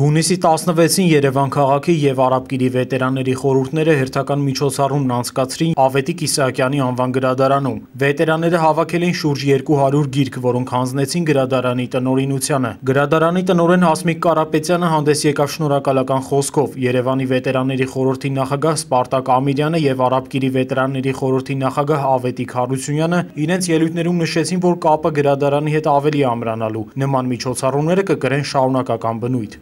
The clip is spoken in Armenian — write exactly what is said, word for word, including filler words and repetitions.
Հունիսի տասնվեցին Երևան քաղաքի և Արաբկիրի վետերանների խորհուրդները հերթական միջոցառումն անցկացրին Ավետիք Իսահակյանի անվան գրադարանում։ Վետերանները հավաքել էին շուրջ երկու հարյուր գիրք, որոնք հանձնեցին գրադարանի տնօրինությանը։ Գրադարանի տնօրեն Հասմիկ Կարապետյանը հանդես եկավ շնորհակալական խոսքով։ Երևանի վետերանների խորհրդի նախագահ Սպարտակ Ամիրյանը և Արաբկիրի վետերանների խորհրդի նախագահ Ավետիք Հարությունյանը իրենց ելույթներում նշեցին, որ կապը գրադարանի հետ ավելի է ամրանալու։ Նման միջոցառումները կկրեն շարունակական բնույթ։